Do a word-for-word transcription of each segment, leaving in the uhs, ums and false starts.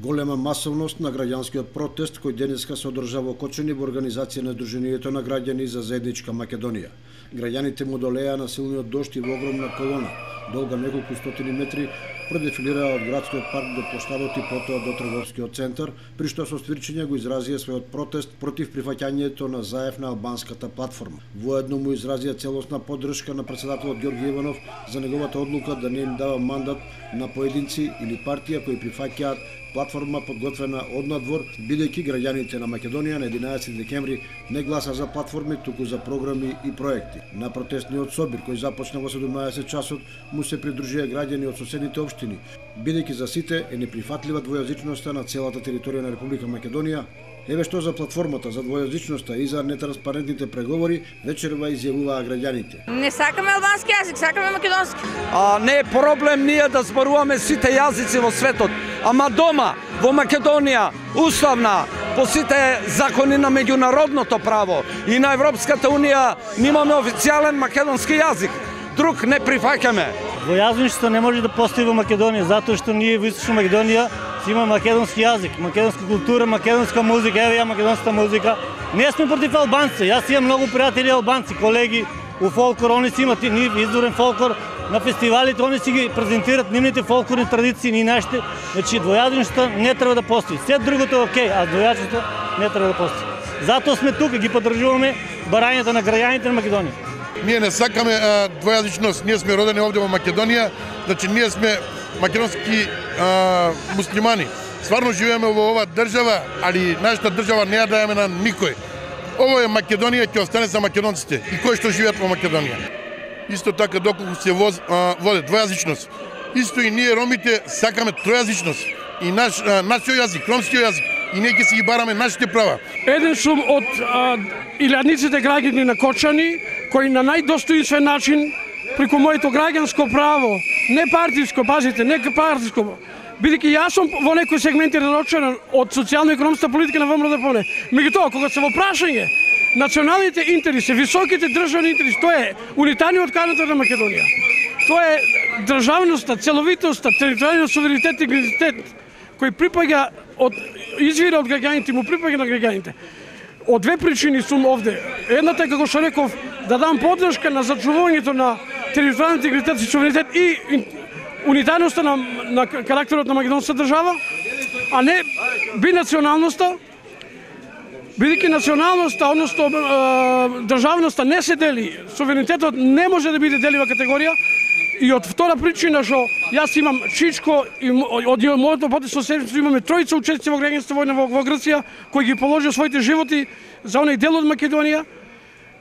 Голема масовност на граѓанскиот протест кој денеска се одржава во Кочани во организација на Сдруженијето на граѓани за заедничка Македонија. Граѓаните му долеа на силниот дожд и во огромна колона, долга неколку стотини метри, продефилираа од градскиот парк до поштадот и потоа до трговскиот центар, при што со свирчење го изразија својот протест против прифаќањето на Заев на албанската платформа. Воедно му изразија целосна поддршка на председателот Ѓорѓе Иванов за неговата одлука да не им дава мандат на поединци или партија кои прифаќаат платформа подготвена од надвор, бидејќи граѓаните на Македонија на единаесети декември не гласа за платформи, туку за програми и проекти. На протестниот собир, кој започна во седумнаесет часот, му се придружија граѓани од соседните општини, бидејќи за сите е неприфатлива двојазичноста на целата територија на Република Македонија. Еве што за платформата за двојазичноста и за нетранспарентните преговори вечерва изјавуваа граѓаните. Не сакаме албански јазик, сакаме македонски. А не е проблем ние да зборуваме сите јазици во светот, ама дома во Македонија уставна по сите закони на меѓународното право и на Европската унија немаме официјален македонски јазик. Друг не прифаќаме. Двојазичноста не може да постои во Македонија затоа што ние во Источна Македонија има македонски јазик, македонска култура, македонска музика, еве ја македонска музика. Не сме против албанци. Јас имам многу пријатели албанци, колеги у фолклор, они си имат нив изворен фолклор на фестивалите, они си ги презентират нивните фолклорни традиции и нашите. Значи двојазичноста не треба да постои. Се другото е окей, а двојазичноста не треба да постои. Затоа сме тука, ги поддржуваме барањата на граѓаните на Македонија. Ние не сакаме а, двојазичност, ние сме родени овде во Македонија, значи ние сме македонски а, муслимани. Стварно живееме во оваа држава, али нашата држава не ја дајаме на никој. Ово е Македонија, ќе остане за македонците и кои што живеат во Македонија. Исто така доколку се воз, а, воде двојазичност, исто и ние ромите сакаме тројазичност и наш а, нашиот јазик, ромскиот јазик, и ние ќе си ги бараме нашите права. Еден сум од а, илјадниците граѓани на Кочани, кои на најдостоинствен начин преку моето граѓанско право, не партиско, пазите, не партиско, бидејќи јас сум во некои сегменти разочаран од социјално-економската политика на ВМРО-ДПМН. Меѓутоа, кога се во прашање националните интереси, високите државни интереси, тоа е унитарниот карактер на Македонија. Тоа е државноста, целовитоста, територијалниот суверенитет и интегритет кој припаѓа од извира од граѓаните, му припаѓа на граѓаните. Од две причини сум овде. Едната е, како што реков, да дам поддршка на зачувувањето на територијален интегритет и суверенитет и унитарноста на, на карактерот на македонската држава, а не бинационалноста, бидејќи националноста, односно државноста не се дели, суверенитетот не може да биде делива категорија. И од втора причина што јас имам Чичко и од моето потесно семејство имаме тројца учесници во граѓанската војна во, во Грција кои ги положија своите животи за оној дел од Македонија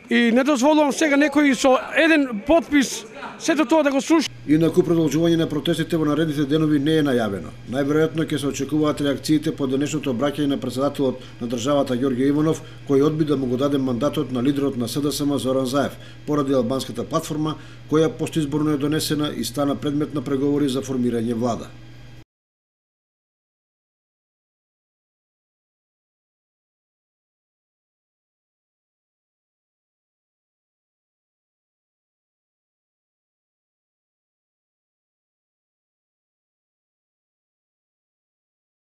и не дозволувам сега некој со еден подпис сето тоа да го слуша. Инаку продолжување на протестите во наредните денови не е најавено. Најверојатно ќе се очекуваат реакциите по денешното обраќање на председателот на државата Ѓорѓе Иванов, кој одби да му го даде мандатот на лидерот на СДСМ Зоран Заев, поради албанската платформа, која постизборно е донесена и стана предмет на преговори за формирање влада.